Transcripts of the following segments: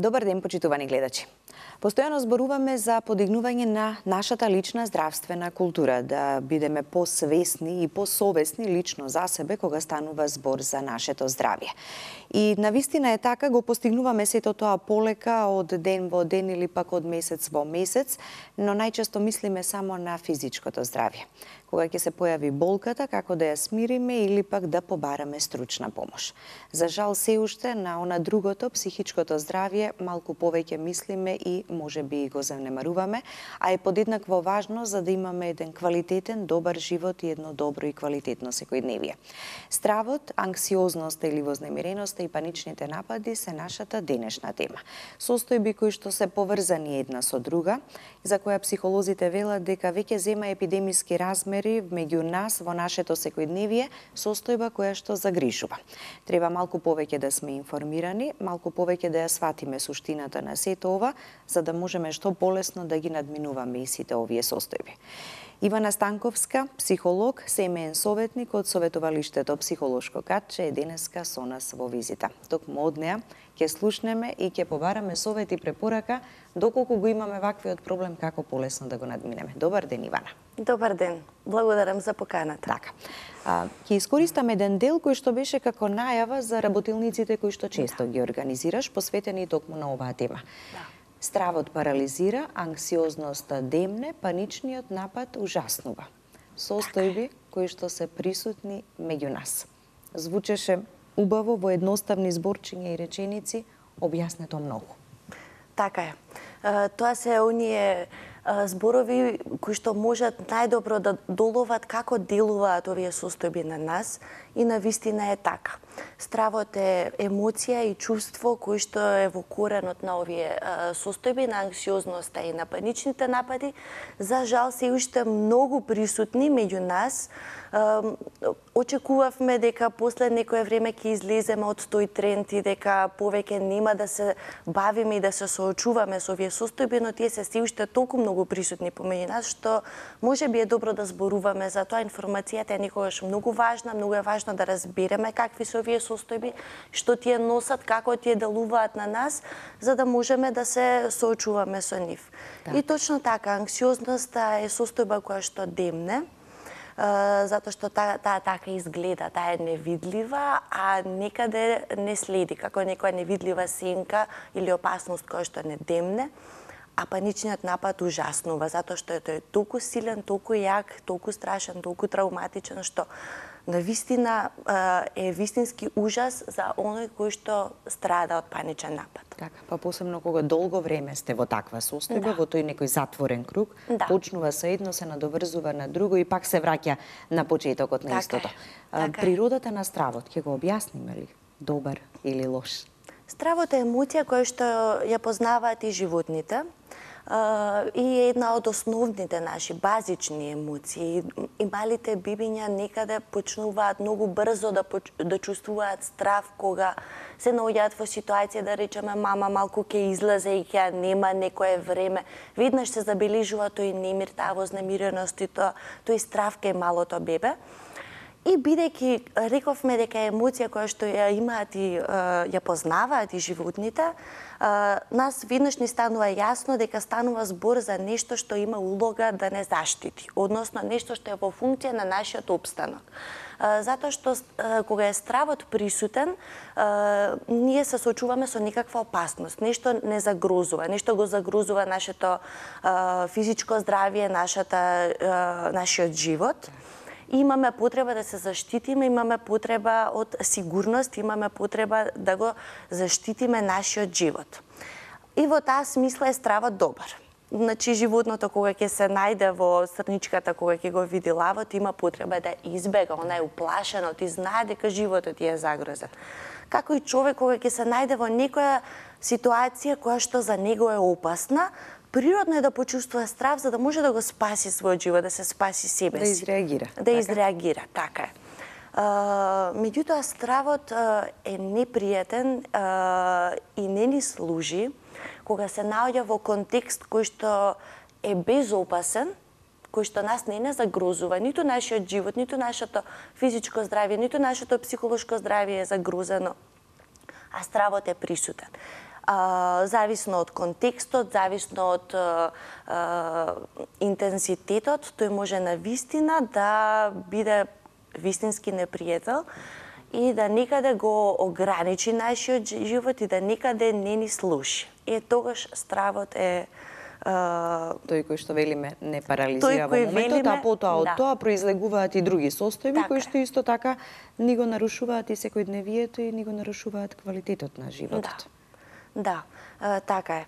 Добар ден, почитувани гледачи. Постојано зборуваме за подигнување на нашата лична здравствена култура, да бидеме посвесни и посовесни лично за себе кога станува збор за нашето здравје. И навистина е така, го постигнуваме сето тоа полека од ден во ден или пак од месец во месец, но најчесто мислиме само на физичкото здравје. Кога ќе се појави болката, како да ја смириме или пак да побараме стручна помош. За жал се уште на она другото, психичкото здравје, малку повеќе мислиме и можеби го занемаруваме, а е подеднакво важно за да имаме еден квалитетен, добар живот и едно добро и квалитетно секојдневие. Стравот, анксиозноста или вознемиреноста и паничните напади се нашата денешна тема. Состојби кои што се поврзани една со друга, за која психолозите велат дека веќе зема епидемиски размери меѓу нас во нашето секојдневие, состојба која што загрижува. Треба малку повеќе да сме информирани, малку повеќе да ја сватиме суштината на сето ова, за да можеме што полесно да ги надминуваме и сите овие состојби. Ивана Станковска, психолог, семеен советник од Советувалиштето Психолошко катче, е денеска со нас во визита. Токму од неа ќе слушнеме и ќе побараме совет и препорака доколку го имаме ваквиот проблем, како полесно да го надминеме. Добар ден, Ивана. Добар ден. Благодарам за поканата. Така. Ќе искористам еден дел кој што беше како најава за работилниците кои што често ги организираш, посветени токму на оваа тема. Да. Стравот парализира, анксиозноста демне, паничниот напад ужаснува. Состојби кои што се присутни меѓу нас. Звучеше убаво во едноставни зборчиња и реченици, објаснето многу. Така е. Тоа се оние зборови кои што можат најдобро да доловат како делуваат овие состојби на нас и навистина е така. Стравот е емоција и чувство кои што е во коренот на овие состојби, на анксиозноста и на паничните напади. За жал се уште многу присутни меѓу нас. Очекувавме дека после некое време ќе излеземе од тој тренд и дека повеќе нема да се бавиме и да се соочуваме со овие состојби, но тие се уште толку многу присутни помеѓу нас, што можеби е добро да зборуваме за тоа. Информацијата е некогаш многу важна, многу е важно да разбереме какви се овие состојби, што тие носат, како тие делуваат на нас, за да можеме да се соочуваме со нив. Да. И точно така, анксиозноста е состојба која што демне, затоа што таа така изгледа, таа е невидлива, а некаде не следи, како некоја невидлива сенка или опасност која што не демне, а паничниот напад ужаснува, затоа што тој е толку силен, толку јак, толку страшен, толку травматичен, што навистина е вистински ужас за оној кој што страда од паничен напад. Така, па посебно кога долго време сте во таква состојба, во тој некој затворен круг, почнува со едно, се надоврзува на друго и пак се враќа на почетокот на истото. Природата на стравот, ќе го објасниме ли? Добар или лош? Стравот е емоција која што ја познаваат и животните и е една од основните наши базични емоции. И малите бибиња некаде почнуваат многу брзо да чувствуваат страв кога се наоѓаат во ситуација, да речеме, мама малку ќе излезе и ќе нема некое време. Веднаш се забележува тој немир, таа вознемиреност и тој страв кај малото бебе. И бидејќи рековме дека е емоција која што ја имаат и ја познаваат и животните, нас веднаш ни станува јасно дека станува збор за нешто што има улога да не заштити, односно нешто што е во функција на нашиот опстанок. Затоа што кога е стравот присутен, ние се соочуваме со некаква опасност, нешто не загрозува, нешто го загрозува нашето физичко здравје, нашиот живот. Имаме потреба да се заштитиме, имаме потреба од сигурност, имаме потреба да го заштитиме нашиот живот. И во таа смисла е стравот добар. Значи, животното кога ќе се најде во страничката, кога ќе го види лавот, има потреба да избега, она е уплашено, ти знае дека животот ти е загрозен. Како и човек кога ќе се најде во некоја ситуација која што за него е опасна, природно е да почувствува страв за да може да го спаси својот живот, да се спаси себе си. Да изреагира. Да изреагира, така е. Меѓутоа, стравот е непријатен и не ни служи кога се наоѓа во контекст кој што е безопасен, кој што нас не загрозува, ниту нашиот живот, ниту нашето физичко здравје, ниту нашето психолошко здравје е загрозено, а стравот е присутен. Зависно од контекстот, зависно од интензитетот, тој може на вистина да биде вистински непријател и да некаде го ограничи нашиот живот и да некаде не ни слуши. Тогаш стравот е тој кој што велиме не парализира во моментот, а потоа од тоа произлегуваат и други состојби кои што исто така ни го нарушуваат и секојдневието и ни го нарушуваат квалитетот на животот. Да, така е.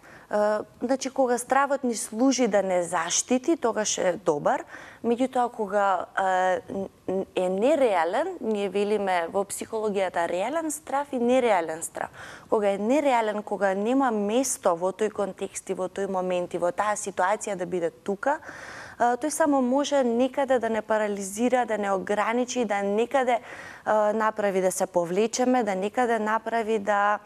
Значи, кога стравот ни служи да не заштити, тогаш е добар. Меѓутоа, кога е нереален, ние велиме во психологијата реален страв и нереален страв. Кога е нереален, кога нема место во тој контекст и во тој момент и во таа ситуација да биде тука, тој само може некаде да не парализира, да не ограничи, да некаде направи да се повлечеме, да некаде направи да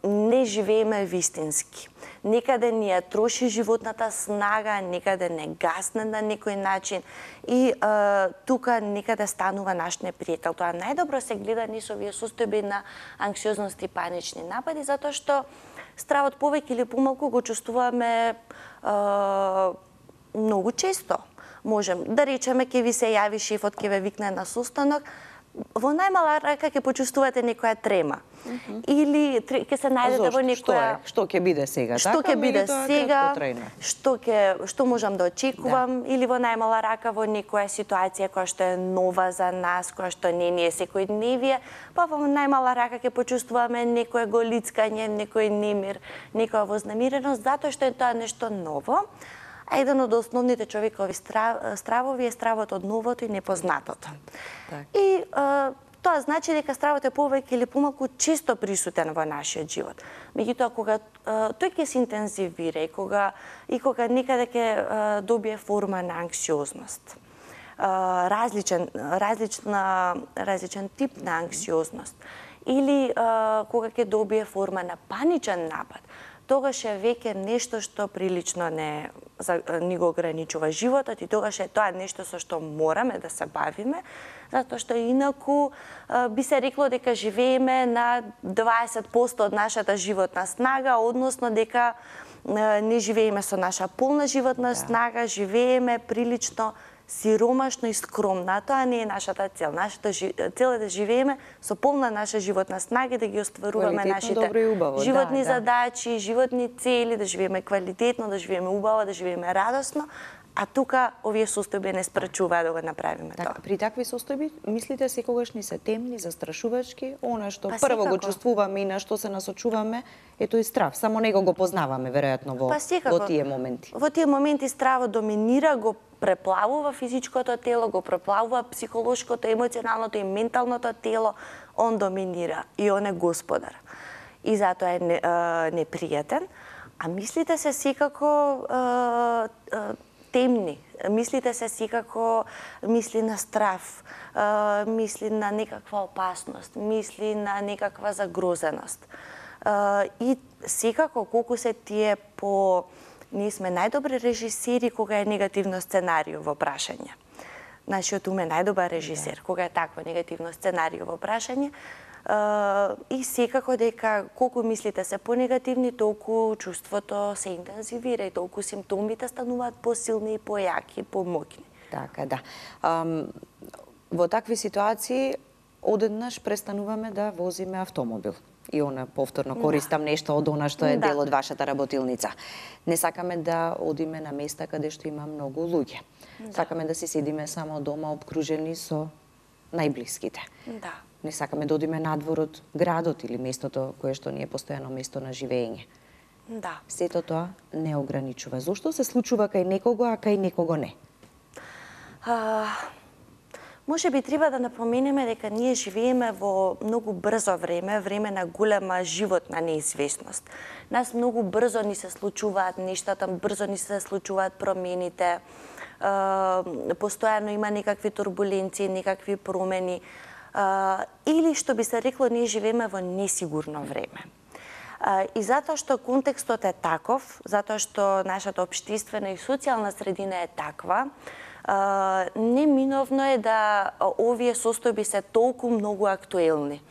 не живееме вистински. Некаде ни ја троши животната снага, некаде не гасне на некој начин и тука некаде станува наш непријател. Тоа најдобро се гледа низ овие состојби на анксиозност и панични напади, затоа што стравот повеќе или помалку го чувствуваме многу често. Можем да речеме, ќе ви се јави шефот, ќе ве викне на состанок, во најмала рака ќе почувствувате некоја трема. Или ќе се најдете во некоја... Што ќе биде сега? Што ќе биде сега? Што можам да очекувам? Или во најмала рака во некоја ситуација која што е нова за нас, која што не ни е секојдневие, па во најмала рака ќе почувствуваме некој голицкање, некој немир, некоја вознемиреност, затоа што е тоа нешто ново. А еден од основните човекови стравови е стравот од новото и непознатото. И тоа значи дека стравот е повеќе или помалку често присутен во нашиот живот. Меѓутоа, кога тој ќе се интензивира и кога некаде ќе добие форма на анксиозност, различен тип на анксиозност, или кога ќе добие форма на паничен напад, тогаш е веќе нешто што прилично ни го ограничува животот и тогаш е тоа нешто со што мораме да се бавиме, затоа што инаку би се рекло дека живееме на 20% од нашата животна снага, односно дека не живееме со наша полна животна снага, живееме прилично сиромашно и скромно, а тоа не е нашата цел. Нашата цел е да живееме со полна наша животна снага и да ги остваруваме нашите животни задачи, животни цели, да живееме квалитетно, да живееме убаво, да живееме радосно, а тука овие состојби не спречуваат да го направиме тоа. При такви состојби, мислите секогаш ни се темни, застрашувачки, она што прво го чувствуваме и на што се насочуваме е тој страв. Само него го познаваме веројатно во тие моменти. Во тие моменти стравот доминира, го преплавува физичкото тело, го преплавува психолошкото, емоционалното и менталното тело, он доминира и он е господар. И затоа е непријатен, а мислите се секако темни, мислите се секако мисли на страв, мисли на некаква опасност, мисли на некаква загрозеност. И секако колку се тие ние сме најдобри режисери кога е негативно сценарио во прашање. Нашиот ум е најдобар режисер кога е такво негативно сценарио во прашање. И секако дека колку мислите се понегативни, толку чувството се интензивира и толку симптомите стануваат посилни, појаки, помоќни. Така, да. Во такви ситуации одеднаш престануваме да возиме автомобил. И она повторно користам нешто од она што е дел од вашата работилница. Не сакаме да одиме на места каде што има многу луѓе. Сакаме да си седиме само дома обкружени со најблиските. Не сакаме да одиме надвор од градот или местото кое што ни е постојано место на живење. Сето тоа не ограничува. Зошто се случува кај некого, а кај некого не? Може би треба да напоменеме дека ние живееме во многу брзо време, време на голема животна неизвестност. Нас многу брзо ни се случуваат нештата, брзо ни се случуваат промените, постојано има некакви турбуленции, некакви промени, или што би се рекло, ние живееме во несигурно време. И затоа што контекстот е таков, затоа што нашата општествена и социјална средина е таква, неминовно е да овие состојби се толку многу актуелни.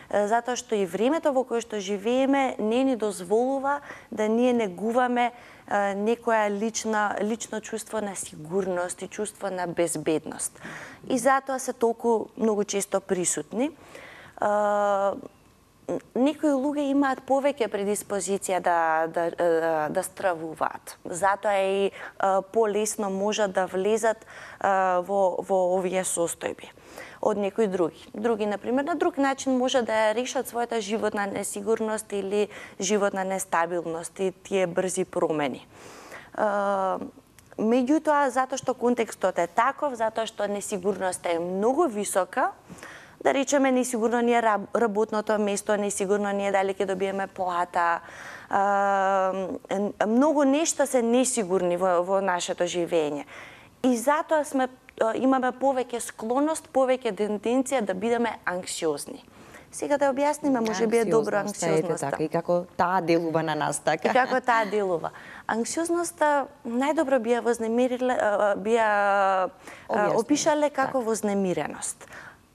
затоа што и времето во кое што живееме не ни дозволува да ние негуваме некоја лично чувство на сигурност и чувство на безбедност. И затоа се толку многу често присутни. Некои луѓе имаат повеќе предиспозиција да стравуваат. Затоа и полесно можат да влезат во овие состојби од некои други. Други, например, на друг начин може да решат својата животна несигурност или животна нестабилност и тие брзи промени. Меѓутоа, затоа што контекстот е таков, затоа што несигурноста е многу висока, да речеме, несигурно ни е работното место, несигурно ни е дали ќе добиеме плата, многу нешта се несигурни во нашето живење. И затоа имаме повеќе склоност, повеќе тенденција да бидеме анксиозни. Сега да објасниме, може би е добро анксиозноста. Така, и како таа делува на нас, така? И како таа делува. Анксиозноста најдобро би ја опишале како вознемиреност.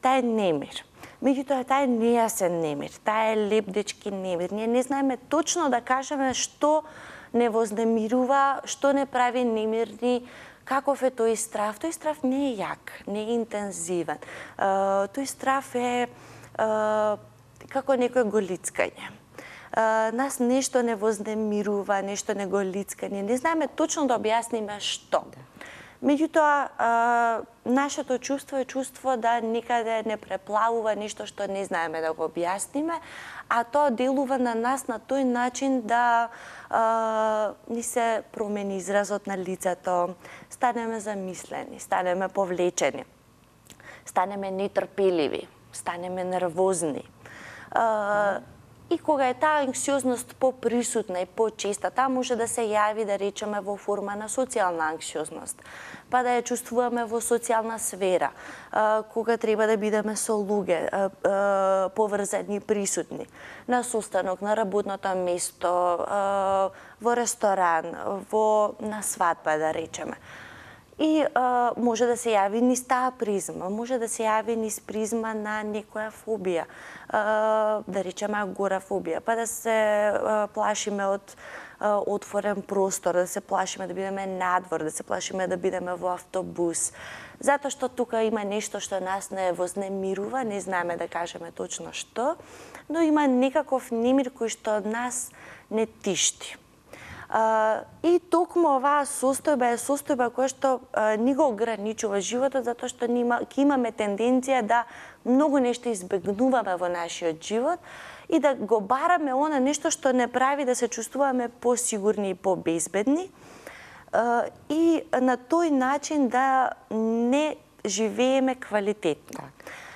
Таа е немир. Меѓутоа, таа е нејасен немир, таа е лебдечки немир. Ние не знаеме точно да кажеме што не вознемирува, што не прави немирни, каков е тој страв. Тој страв не е јак, не е интензивен. Тој страв е како некој голицкање. Нас нешто не вознемирува, нешто не голицка. Ние не знаеме точно да објасниме што. Меѓутоа, нашето чувство е чувство да никаде не преплавува нешто што не знаеме да го објасниме, а тоа делува на нас на тој начин да ни се промени изразот на лицето, станеме замислени, станеме повлечени, станеме нетрпеливи, станеме нервозни. И кога е таа анксиозност поприсутна и почеста, таа може да се јави, да речеме, во форма на социјална анксиозност, па да ја чувствуваме во социјална сфера, кога треба да бидеме со луѓе, поврзани, присутни, на состанок, на работното место, во ресторан, на свадба, да речеме. И може да се јави низ таа призма, може да се јави низ призма на некоја фобија, да речеме агорафобија, па да се плашиме од отворен простор, да се плашиме да бидеме надвор, да се плашиме да бидеме во автобус. Затоа што тука има нешто што нас не вознемирува, не знаеме да кажеме точно што, но има некаков немир кој што нас не тишти. И токму оваа состојба е состојба која што ни го ограничува животот, затоа што ќе имаме тенденција да многу нешто избегнуваме во нашиот живот и да го бараме она нешто што не прави да се чувствуваме посигурни и побезбедни и на тој начин да не живееме квалитетно.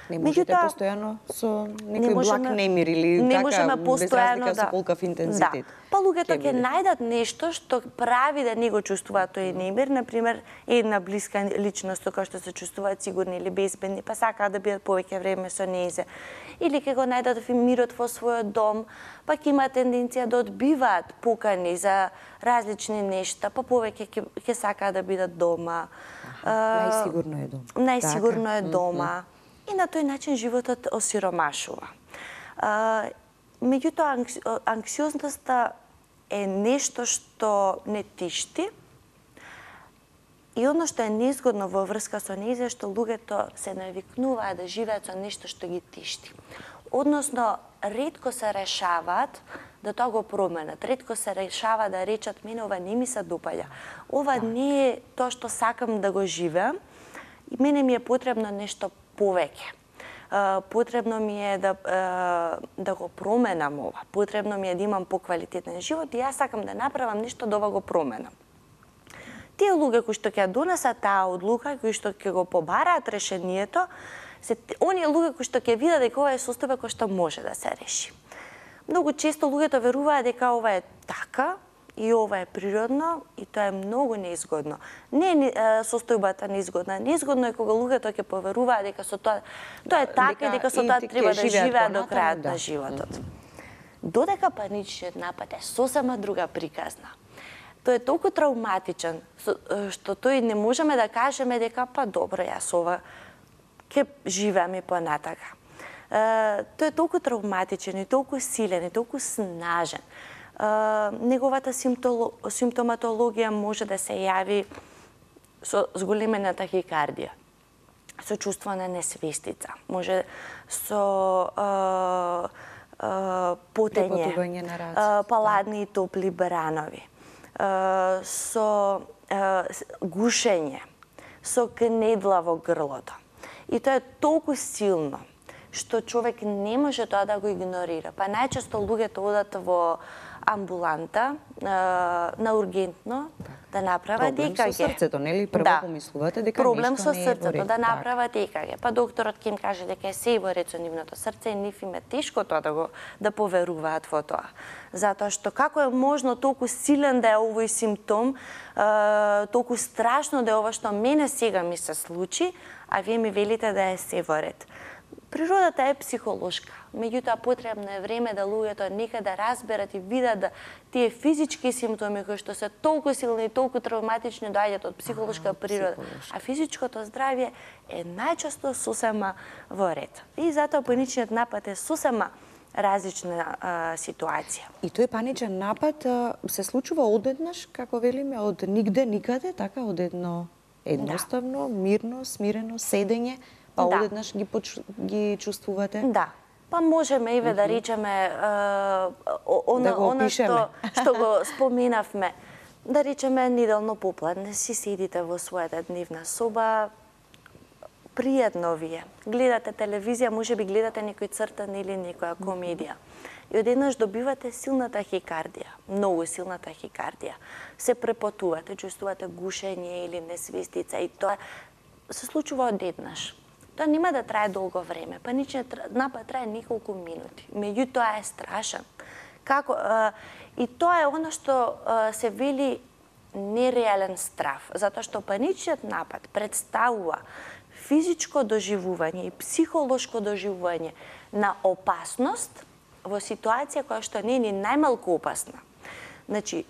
Не можете постојано со некој благ немир или така, без разлика со колкав интензитет. Па луѓето ќе најдат нешто што прави да не го чувствуваат тој немир, например, една блиска личност која што се чувствуваат сигурни или безбедни, па сакаат да бидат повеќе време со нејзе. Или ќе го најдат мирот во својот дом, па ќе имаат тенденција да одбиваат покани за различни нешта, па повеќе ќе сакаат да бидат дома. Најсигурно е дома. Најсигурно е дома. И на тој начин животот осиромашува. Меѓутоа, анксиозноста е нешто што не тишти и оно што е незгодно во врска со нејзе што луѓето се навикнуваат да живеат со нешто што ги тишти. Односно, ретко се решаваат да тоа го променат. Ретко се решава да речат, мене ова не ми се допаѓа. Ова не е тоа што сакам да го живеам и мене ми е потребно нешто повеќе. Потребно ми е да го променам ова. Потребно ми е да имам поквалитетен живот и јас сакам да направам нешто да ова го променам. Тие луѓе кои што ќе донесат таа одлука, кои што ќе го побараат решението, се оние луѓе кои што ќе видат дека ова е состојба која што може да се реши. Многу често луѓето веруваат дека ова е така, и ова е природно и тоа е многу неизгодно. Не е состојбата неизгодна. Неизгодно е кога луѓето ќе поверуваат дека со тоа е така и дека со тоа треба да живеат до крајот на животот. Додека паничниот напад е сосема друга приказна. Тој е толку травматичен што тој не можеме да кажеме дека па добро, јас ова ќе живеам и понатака. тој е толку травматичен и толку силен и толку снажен. Неговата симптоматологија може да се јави со зголемена тахикардија, со чувство на несвестица, може со потење, паладни и топли бранови, со гушење, со кнедла во грлото. И тоа е толку силно што човек не може тоа да го игнорира. Па најчесто луѓето одат во амбуланта на ургентно да направат ЕКГ. Проблем со срцето, нели? Прво помислувате дека проблем нешто со не е во срцето, ред. да направат ЕКГ. Па докторот ќе им каже дека е се во ред со нивното срце и нив им е тешко тоа да поверуваат во тоа. Затоа што како е можно толку силен да е овој симптом, толку страшно да е ова што мене сега ми се случи, а вие ми велите да е се во ред. Природата е психолошка, меѓутоа потребно е време да луѓето нека да разберат и видат да тие физички симптоми кои што се толку силни и толку травматични доаѓаат од психолошка природа, а физичкото здравје е најчесто сосема во ред. И затоа паничниот напад е сосема различна ситуација. И тој паничен напад се случува одеднаш, како велиме, од нигде никаде, така едноставно, мирно, смирено седење, па одеднаш ги чувствувате? Да. Па можеме и да речеме она што го споменавме. Да речеме неделно попладне си седите во својата дневна соба, пријатно ви е. Гледате телевизија, можеби гледате некој цртан или некоја комедија. И одеднаш добивате силна тахикардија, многу силна тахикардија. Се препотувате, чувствувате гушење или несвестица и тоа се случува одеднаш. Тоа нема да трае долго време, паничниот напад трае неколку минути. Меѓутоа е страшен. И тоа е она што се вели нереален страв, затоа што паничниот напад представува физичко доживување и психолошко доживување на опасност во ситуација која што не е ни најмалку опасна. Значи,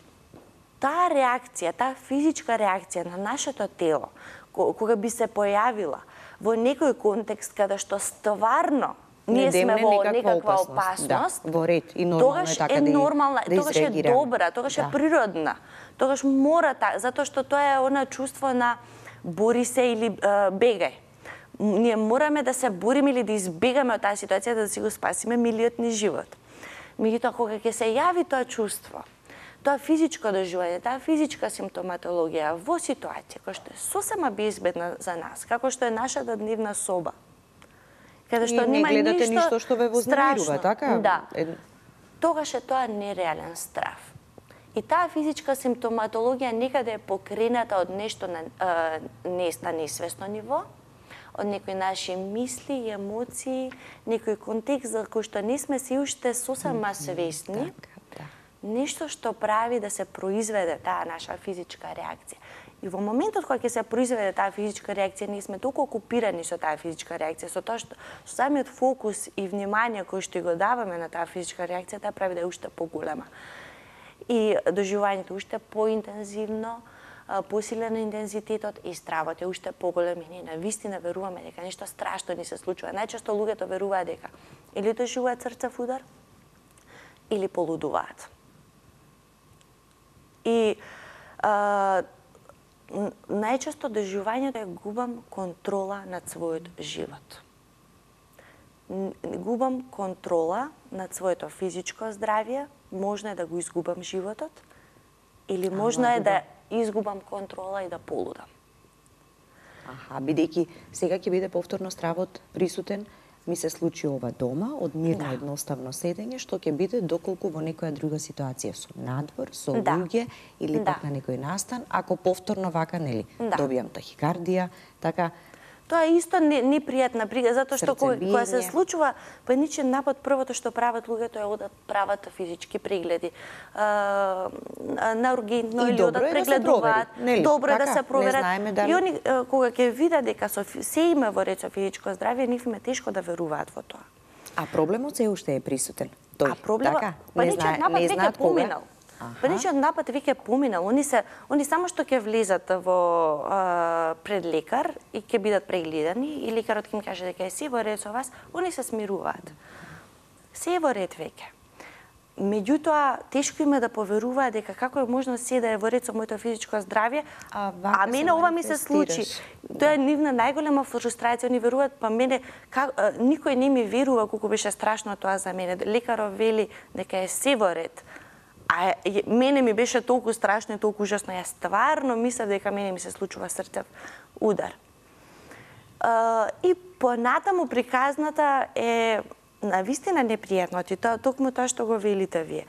таа реакција, таа физичка реакција на нашето тело, кога би се појавила во некој контекст каде што стварно ние сме во некаква опасност, во ред и нормално е така да изреагираме. Тогаш е добра, тогаш е природна. Тогаш мора затоа што тоа е она чувство на бори се или бегај. Ние мораме да се бориме или да избегаме од таа ситуација да си го спасиме милиот ни живот. Меѓутоа кога ќе се јави тоа чувство, тоа физичко доживување, таа физичка симптоматологија во ситуација која што е сосема безбедна за нас, како што е нашата дневна соба, каде што нема ништо што ве вознемирува, така? Да. Тогаш е тоа нереален страв. И таа физичка симптоматологија некаде е покрената од нешто на несвесно ниво, од некои наши мисли и емоции, некој контекст за кој што не сме се уште сосема свесни, нешто што прави да се произведе таа наша физичка реакција. И во моментот кога ќе се произведе таа физичка реакција, ние сме толку окупирани со таа физичка реакција, со тоа што самиот фокус и внимание кој што го даваме на таа физичка реакција, таа прави да е уште поголема. И доживувањето уште поинтензивно, посилен интензитетот и стравот е уште поголем и ние навистина веруваме дека нешто страшно ни се случува. Најчесто луѓето веруваат дека или доживуваат срцев удар, или полудуваат. И најчесто доживувањето е губам контрола над својот живот. Губам контрола над своето физичко здравје, можно е да го изгубам животот, или можно е да изгубам контрола и да полудам. Бидејќи сега ќе биде повторно стравот присутен, ми се случи ова дома, од мирно едноставно седење, што ќе биде доколку во некоја друга ситуација со надвор, со луѓе или пак на некој настан, ако повторно вака, нели, добијам тахикардија, така. Тоа е исто непријатна брига, затоа што кога се случува паничен напад, првото што прават луѓето е одат прават физички прегледи на ургентно или одат прегледуваат. Добро е да се проверат. И они кога ќе видат дека се има во ред со физичко здравје, нив им е тешко да веруваат во тоа. А проблемот се уште е присутен. Паничниот напад веќе поминал. Паничниот напад веќе поминал. Они само што ќе влезат во пред лекар и ќе бидат прегледани и лекарот ќе им каже дека е се во ред со вас, они се смируваат. Се е во ред веќе. Меѓутоа, тешко им е да поверуваат дека како е можно се да е во ред со моето физичко здравје, а мене ова ми се случи. Тоа е нивна најголема фрустрација, они веруваат, па мене никој не ми верува колку беше страшно тоа за мене. Лекарот вели дека е се во ред. А мене ми беше толку страшно и толку ужасно. Јас стварно мислев дека мене ми се случува срцев удар. И понатаму приказната е навистина непријатно, и токму тоа што го велите вие.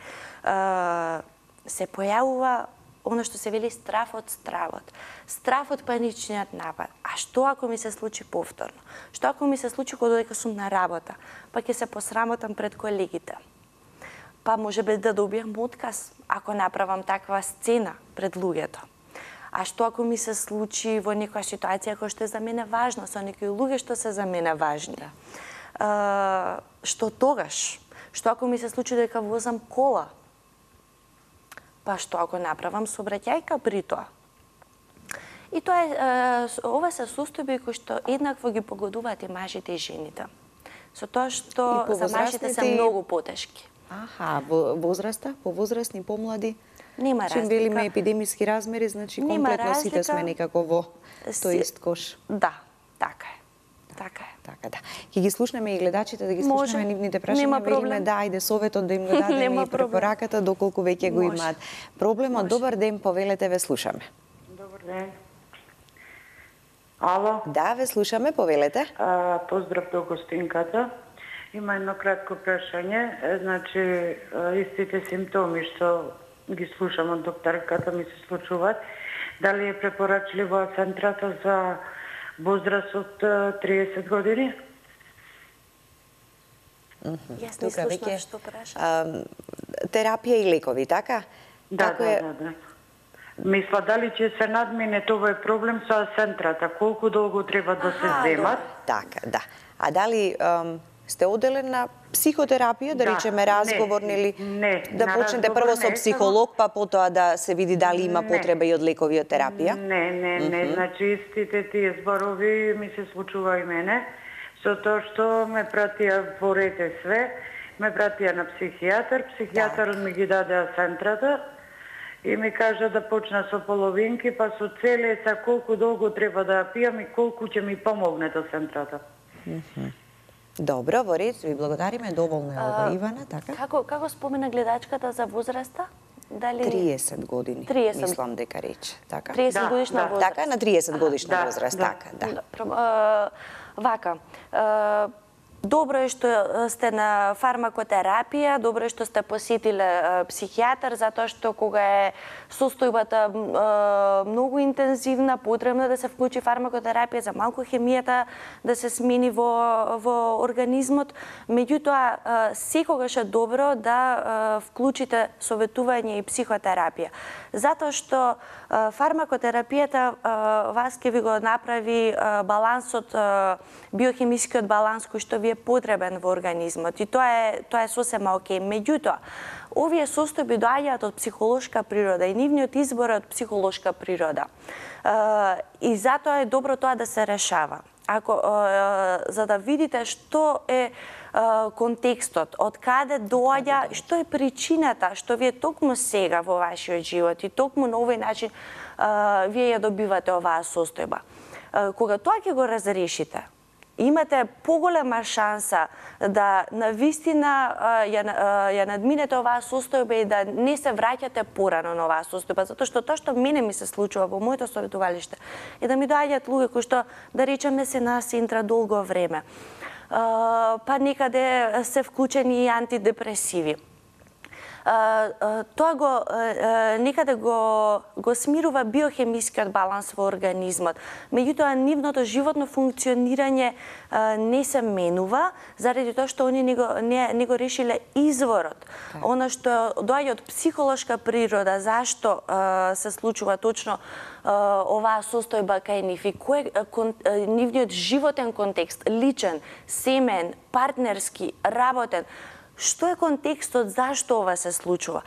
Се појавува оно што се вели страв од стравот. Страв од паничниот напад. А што ако ми се случи повторно? Што ако ми се случи кога додека сум на работа? Па ќе се посрамотам пред колегите. Па може би да добијам отказ ако направам таква сцена пред луѓето. А што ако ми се случи во некоја ситуација која што е за мене важна, со некои луѓе што се за мене важни? Што тогаш? Што ако ми се случи дека возам кола? Па што ако направам сообраќајка при тоа? И тоа е, ова се состојби кои што еднакво ги погодуваат и мажите и жените. Со тоа што за мажите се многу потешки. Аха, возраста, повозрастни, помлади? Нема разлика. Чим велиме епидемиски размери, значи комплетно сите сме некако во тој ист кош. Да, така е. Така е. Така, да. Ќе ги слушнеме и гледачите, да ги слушнеме нивните прашања, велиме да, ајде советот да им го дадеме и препораката доколку веќе го имаат. Проблемот, добар ден, повелете, ве слушаме. Добар ден. Ало? Да, ве слушаме, повелете. Поздрав до гостинката. Има едно кратко прашање. Значи, истите симптоми што ги слушам од докторката ми се случуваат. Дали е препорачливо центрата за возраст од 30 години? Јас не слушнав што праша. Терапија и лекови, така? Да. Мисла, дали ќе се надмине овој проблем со центрата? Колку долго треба да се земат? Така, да. А дали сте оделен на психотерапија, да речеме разговорни или да почнете прво со психолог, па потоа да се види дали има потреба и од лекови од терапија? Не, значи истите тие зборови ми се случува и мене, со тоа што ме пратија во рете све, ме пратија на психијатар ми ги даде центрата и ми кажа да почна со половинки, па со целеса колку долго треба да ја пијам и колку ќе ми помогне до центрата. Добро, во ред, ви благодариме, доволно е ова, Ивана, така? Како спомена гледачката за возраста? Дали 30 години, 30. Мислам дека рече, така? 30 годишна возраст. Така, на 30 годишна возраст, така, да. Вака, добро е што сте на фармакотерапија, добро е што сте посетиле психијатар, затоа што кога е состојбата многу интензивна, потребно да се вклучи фармакотерапија за малку хемијата да се смени во организмот. Меѓутоа, секогаш е добро да вклучите советување и психотерапија. Затоа што фармакотерапијата вас ќе ви го направи балансот, биохемискиот баланс кој што ви е потребен во организмот и тоа е сосема окей. Меѓутоа, овие состојби доаѓаат од психолошка природа и нивниот избор е од психолошка природа. И затоа е добро тоа да се решава. За да видите што е контекстот, од каде доаѓа, што е причината, што вие токму сега во вашиот живот и токму на овој начин вие ја добивате оваа состојба. Кога тоа ќе го разрешите, имате поголема шанса да навистина ја надминете оваа состојба и да не се враќате порано на оваа состојба, затоа што тоа што мене ми се случува во моето советувалиште е да ми доаѓаат луѓе кои што, да речеме, се на синтра долго време, па некаде се вклучени и антидепресиви. Тоа некаде го смирува биохемискиот баланс во организмот. Меѓутоа, нивното животно функционирање не се менува, заради тоа што они не го решиле изворот. Она што доаѓа од психолошка природа, зашто се случува точно оваа состојба кај нив и кој е нивниот животен контекст, личен, семен, партнерски, работен. Што е контекстот, зашто ова се случува?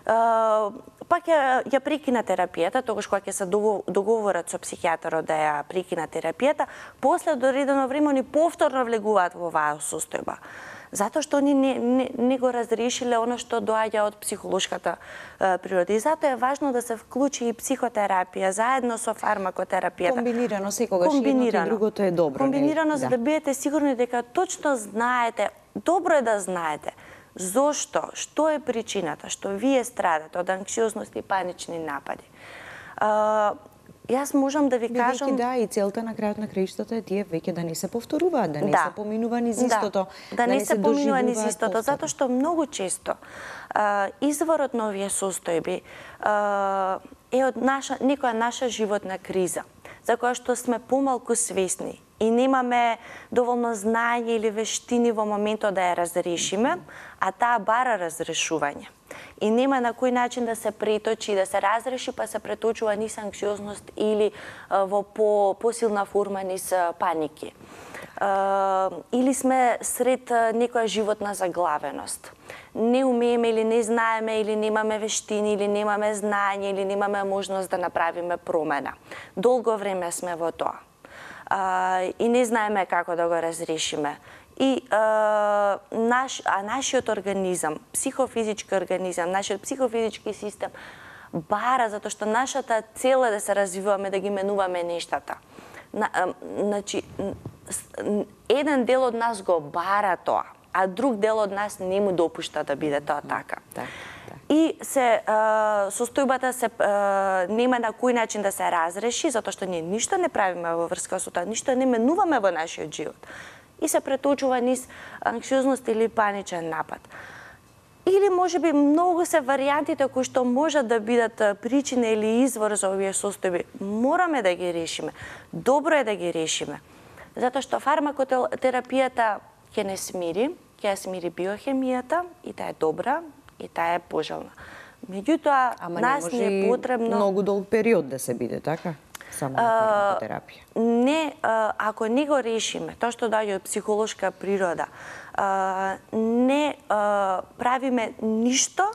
пак ја прекина терапијата, тогаш кога ќе се договорат со психијатарот да ја прекина терапијата, после од одредено време они повторно влегуваат во оваа состојба. Затоа што они не го разрешиле оно што доаѓа од психолошката природа. И затоа е важно да се вклучи и психотерапија заедно со фармакотерапијата. Комбинирано, секогаш едното и другото е добро. Комбинирано, за да бидете сигурни дека точно знаете, добро е да знаете зошто, што е причината, што вие страдате од анксиозност и панични напади. Јас можам да ви кажам... Да, и целта на крајот на краиштата е тие веќе да не се повторуваат, да не се поминува низ истото. Да не се поминува низ истото, затоа што многу често изворот на овие состојби е од некоја наша животна криза, за која што сме помалку свесни и немаме доволно знаење или вештини во моментот да ја разрешиме, а таа бара разрешување. И нема на кој начин да се преточи, да се разреши, па се преточува низ анксиозност или во посилна форма низ паники. Или сме сред некоја животна заглавеност. Не умееме или не знаеме, или немаме вештини, или немаме знаење, или немаме можност да направиме промена. Долго време сме во тоа. И не знаеме како да го разрешиме. И нашиот организам, психофизички организам, нашиот психофизички систем бара, затоа што нашата цел е да се развиваме, да ги менуваме нештата. Значи, еден дел од нас го бара тоа, а друг дел од нас не му допушта да биде тоа така. И состојбата нема на кој начин да се разреши, затоа што ние ништо не правиме во врска со тоа, ништо не менуваме во нашиот живот. И се преточува низ анксиозност или паничен напад. Или можеби многу се варијантите кои што можат да бидат причина или извор за овие состојби. Мораме да ги решиме. Добро е да ги решиме. Затоа што фармакотерапијата ќе не смири, ќе ја смири биохемијата и таа е добра и таа е пожелна. Меѓутоа, нас не е потребно... Многу долг период да се биде, така? Само фармакотерапија. Не, ако не го решиме, тоа што доаѓа од психолошка природа, не правиме ништо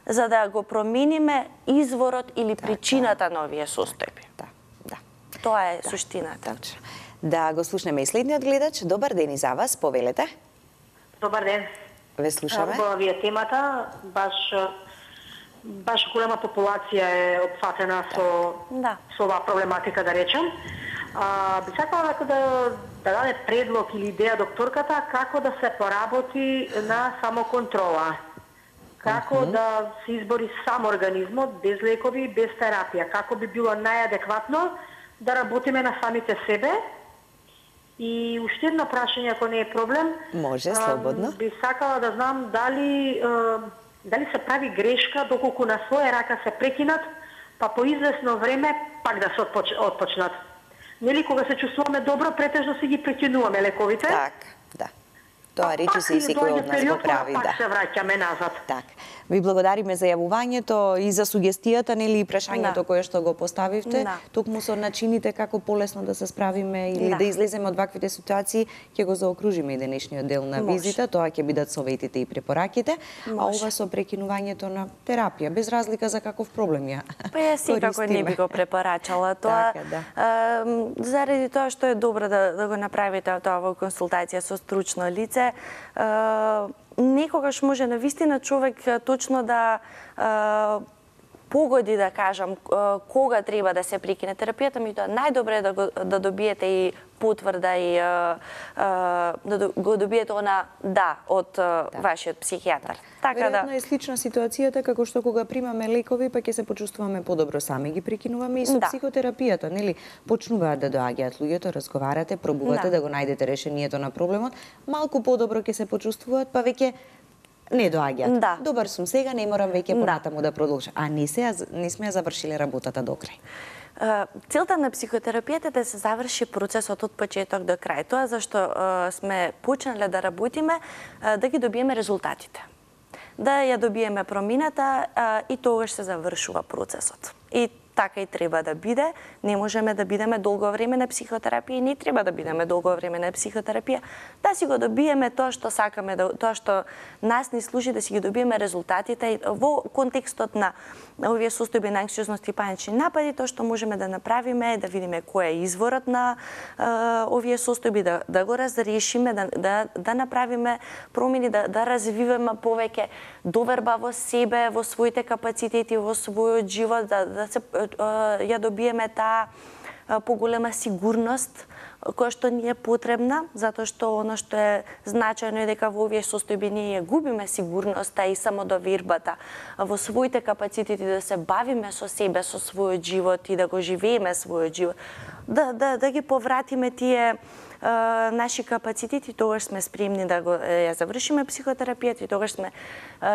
за да го промениме изворот или причината на овие состојби. Да. Тоа е суштината. Да го слушнеме и следниот гледач. Добар ден и за вас, повелете. Добар ден. Ве слушаме. Убава ви е темата, баш голема популација е опфатена со оваа проблематика, да речем. Би сакала да даде предлог или идеја докторката како да се поработи на самоконтрола. Како да се избори сам организмот, без лекови, без терапија. Како би било најадекватно да работиме на самите себе. И уште едно прашање, ако не е проблем. Може, слободно. Би сакала да знам дали се прави грешка доколку на своја рака се прекинат, па по известно време пак да се отпочнат. Нели кога се чувствуваме добро, претежно си ги прекинуваме лековите. Така, да. Тоа речи се и секој од нас го прави, да. Пак се враќаме назад. Така. Ви благодариме за јавувањето и за сугестијата, нели, и прашањето кое што го поставивте. Токму со начините како полесно да се справиме или да излеземе од ваквите ситуации, ќе го заокружиме и денешниот дел на визита. Тоа ќе бидат советите и препораките. А ова со прекинувањето на терапија, без разлика за каков проблем ја Па ја секако не би го препорачала тоа. Заради тоа што е добро да го направите тоа во консултација со стручно лице, некогаш може навистина човек точно да погоди, да кажам, кога треба да се прекине терапијата, меѓутоа најдобро е да добиете и потврда и да го добиете од вашиот психијатар. Така веројатно е слична ситуацијата како што кога примаме лекови, па ќе се почувствуваме подобро сами ги прекинуваме и со психотерапијата, нели? Почнуваат да доаѓаат луѓето, разговарате, пробувате да го најдете решението на проблемот, малку подобро ќе се почувствуваат, па веќе не доаѓаат. Добар сум сега, не морам веќе понатаму да продолжам. А не сме ја завршиле работата до крај. Целта на психотерапијата е да се заврши процесот од почеток до крај. Тоа зашто сме почнале да работиме, да ги добиеме резултатите. Да ја добиеме промината и тогаш се завршува процесот. И така и треба да биде. Не можеме да бидеме долго време на психотерапија и не треба да бидеме долго време на психотерапија. Да си го добиеме тоа што сакаме, тоа што нас ни служи, да си ги добиеме резултатите во контекстот на овие состојби на анксиозност и панични напади. Тоа што можеме да направиме е да видиме кој е изворот на овие состојби, да го разрешиме, да направиме промени, да развиваме повеќе доверба во себе, во своите капацитети, во својот живот, да се ја добиеме таа поголема сигурност која што ни е потребна, затоа што оно што е значајно е дека во овие состојби ние губиме сигурноста и самодовербата во своите капацитети да се бавиме со себе, со својот живот и да го живееме својот живот, да ги повратиме тие наши капацитети, тогаш сме спремни да ја завршиме психотерапијата и тогаш сме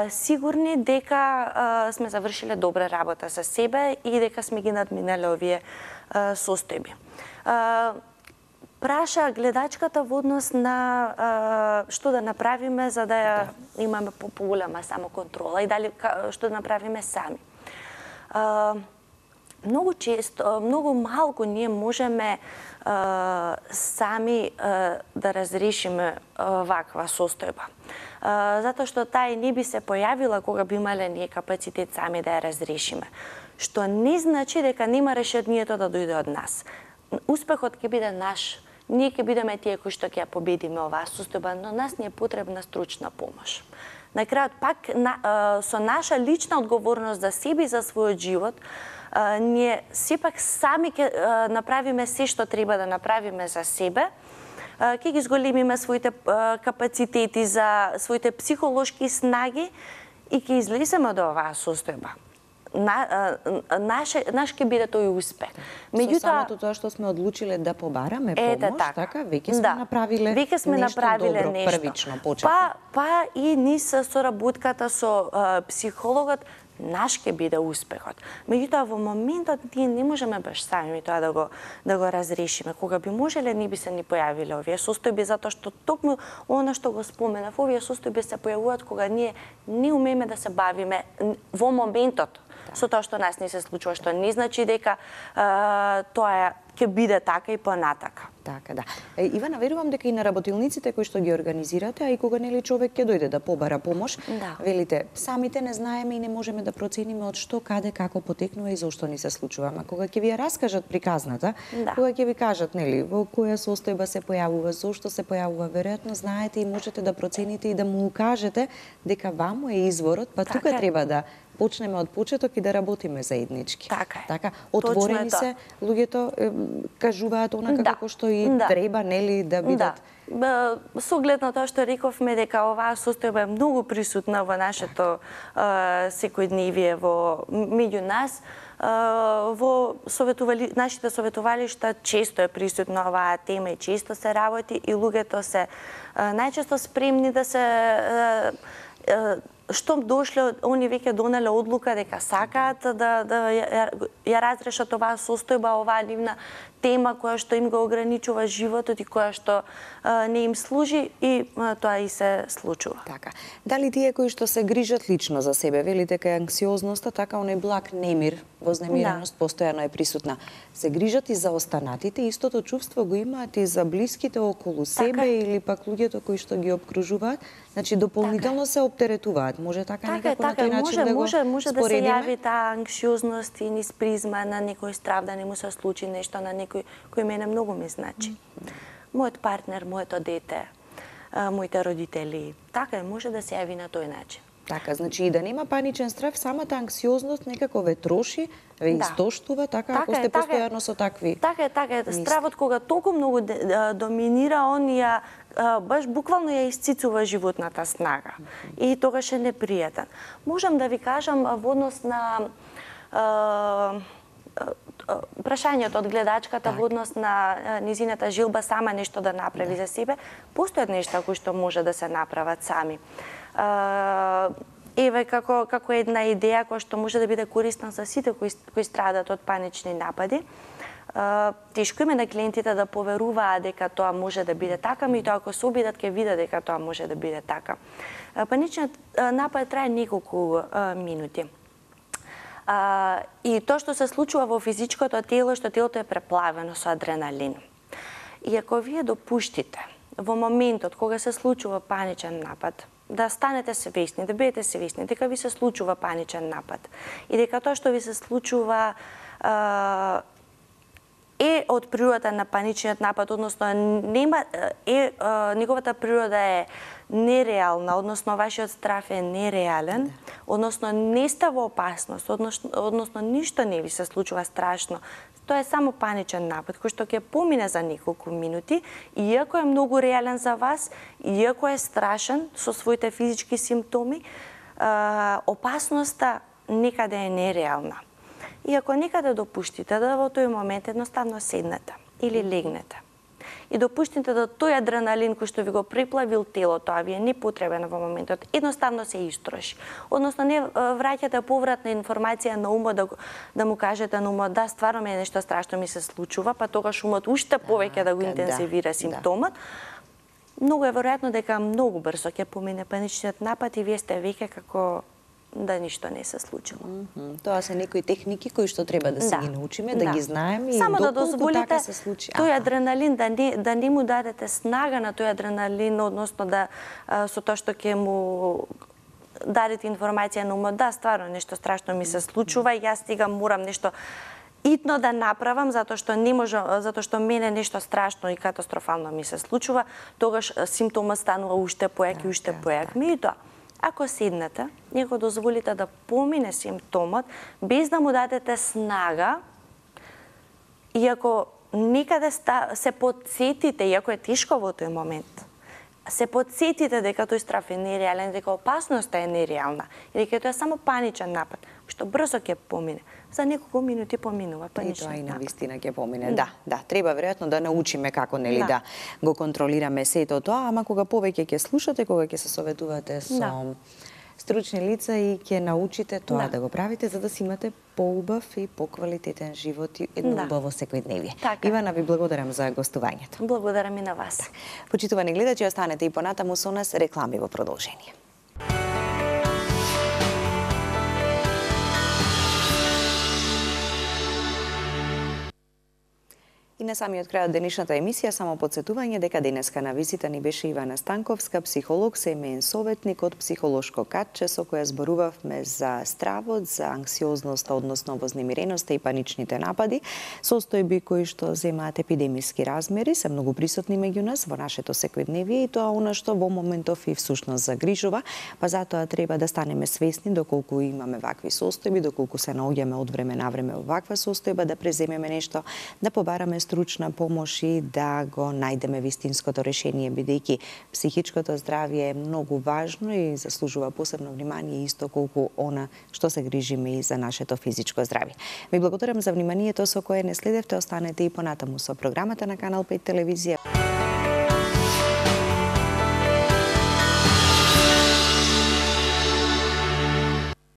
сигурни дека сме завршиле добра работа со себе и дека сме ги надминале овие состојби. Праша гледачката во однос на што да направиме за да имаме поголема самоконтрола и дали што да направиме сами. Многу често, многу малку ние можеме сами да разрешиме ваква состојба. Затоа што таа не би се појавила кога би имале ние капацитет сами да ја разрешиме. Што не значи дека нема решението да дојде од нас. Успехот ќе биде наш. Ние ќе бидеме тие кои што ќе ја победиме оваа состојба, но нас ни е потребна стручна помош. На крајот пак со наша лична одговорност за себе и за својот живот, ние сепак сами ќе направиме се што треба да направиме за себе, ќе ги зголемиме своите капацитети, за своите психолошки снаги и ќе излеземе од оваа состојба. Наш ќе биде тој успех. Меѓутоа, со самото тоа што сме одлучиле да побараме помош, така, веќе сме направиле нешто добро, првично почетно. Па и низ соработката со психологот, наш ќе биде успехот. Меѓутоа, во моментот ние не можеме баш сами тоа да го разрешиме. Кога би можеле, не би се ни појавиле овие состојби, затоа што токму она што го споменав, овие состојби се појавуваат кога ние не умееме да се бавиме во моментот со тоа што нас не се случува, што не значи дека тоа ќе биде така и понатака. Така, да. Ивана, верувам дека и на работилниците кои што ги организирате, а и кога нели човек ќе дојде да побара помош, велите, самите не знаеме и не можеме да процениме од што, каде, како потекнува и зошто ни се случува. Ама кога ќе ви ја раскажат приказната, кога ќе ви кажат, нели, во која состојба се појавува, зошто се појавува, веројатно знаете и можете да процените и да му укажете дека ваму е изворот, па тука треба да почнеме од почеток и да работиме заеднички. Така. Отворени се, луѓето кажуваат онака како што и треба, нели, да бидат. Со оглед на тоа што рековме дека оваа состојба е многу присутна во нашето секојдневие меѓу нас, во нашите советувалишта често е присутна оваа тема и често се работи и луѓето се најчесто спремни да се штом дошле, они веќе донеле одлука дека сакаат да ја разрешат оваа состојба, оваа нивна тема која што им го ограничува животот и која што не им служи и тоа и се случува. Така. Дали тие кои што се грижат лично за себе, велите дека анксиозноста, така оној благ немир, вознемиреност постојано е присутна, се грижат и за останатите, истото чувство го имаат и за блиските околу себе или пак луѓето кои што ги опкружуваат, значи дополнително се оптеретуваат. Може така некако на тој начин да го споредиме? Може да се јави таа анксиозност и низ призма на некој страв да не му се случи нешто на некој кој мене многу ми значи. Мојот партнер, моето дете, моите родители. Така може да се јави на тој начин. Така, значи и да нема паничен страв, самата анксиозност некако ве троши, ве истоштува, така, ако сте постојано со такви. Така е. Стравот кога толку многу доминира, он баш буквално ја исцицува животната снага. И тогаш е непријатен. Можам да ви кажам во однос на прашањето од гледачката во однос на низината желба сама нешто да направи за себе, постојат нешта кои што може да се направат сами. Еве како една идеја која што може да биде корисна за сите кои страдат од панични напади. Тешко име на клиентите да поверуваат дека тоа може да биде така, меѓутоа ако се обидат ќе видат дека тоа може да биде така. Паничниот напад трае неколку минути. И тоа што се случува во физичкото тело, што телото е преплавено со адреналин. И ако вие допуштите во моментот кога се случува паничен напад, да станете свесни, да бидете свесни дека ви се случува паничен напад и дека тоа што ви се случува е од природата на паничниот напад, односно неговата природа е нереална, односно вашиот страв е нереален, односно не сте во опасност, односно ништо не ви се случува страшно. Тоа е само паничен напад, кој што ќе помине за неколку минути, иако е многу реален за вас, иако е страшен со своите физички симптоми, опасноста некаде е нереална. И ако некаде допуштите да во тој момент едноставно седнете или легнете и допуштите да тој адреналин кој што ви го преплавил телото, а ви е непотребен во моментот, едноставно се истроши. Односно не враќате повратна информација на умот да му кажете на умот да стварно е нешто страшно ми се случува, па тогаш умот уште повеќе да го интензивира симптомот. Многу е веројатно дека многу брзо ќе помине паничниот напад и вие сте веќе како да ништо не се случило. Тоа се некои техники кои што треба да се ги научиме, да ги знаеме и само да доколку дозволите така се случи. Тој адреналин да не му дадете снага на тој адреналин, односно да со тоа што ќе му дадете информација на умот, да, стварно нешто страшно ми се случува и јас сега морам нешто итно да направам затоа што не може, затоа што мене нешто страшно и катастрофално ми се случува, тогаш симптомот станува уште појак и уште појак. Меѓутоа, ако седнете, него дозволите да помине симптомот без да му дадете снага, и ако некаде се подсетите, иако е тешко во тој момент, се подсетите дека тој страв е нереален, дека опасноста е нереална, и дека тоа е само паничен напад, што брзо ќе помине. За неколку минути поминува паничен напад. И тоа и навистина ќе помине. Да, треба веројатно да научиме како да го контролираме сето тоа, ама кога повеќе ќе слушате, кога ќе се советувате со стручни лица и ќе научите тоа да го правите за да си имате поубав и поквалитетен живот и едно убаво секојдневие. Ивана, ви благодарам за гостувањето. Благодарам и на вас. Почитувани гледачи, останете и понатаму со нас, реклами во продолжение. И на самиот крај од денешната емисија само подсетување дека денеска на визита ни беше Ивана Станковска, психолог, семеен советник од психолошко катче со која зборувавме за стравот, за анксиозноста, односно вознемиреноста и паничните напади, состојби кои што земаат епидемиски размери, се многу присутни меѓу нас во нашето секојдневие и тоа она што во моментов и всушност загрижува, па затоа треба да станеме свесни доколку имаме вакви состојби, доколку се наоѓаме од време на време во ваква состојба, да преземеме нешто, да побараме стручна помош и да го најдеме вистинското решение, бидејќи психичкото здравје е многу важно и заслужува посебно внимание исто колку она што се грижиме и за нашето физичко здравје. Ви благодарам за вниманието со кое не следевте, останете и понатаму со програмата на Канал 5 телевизија.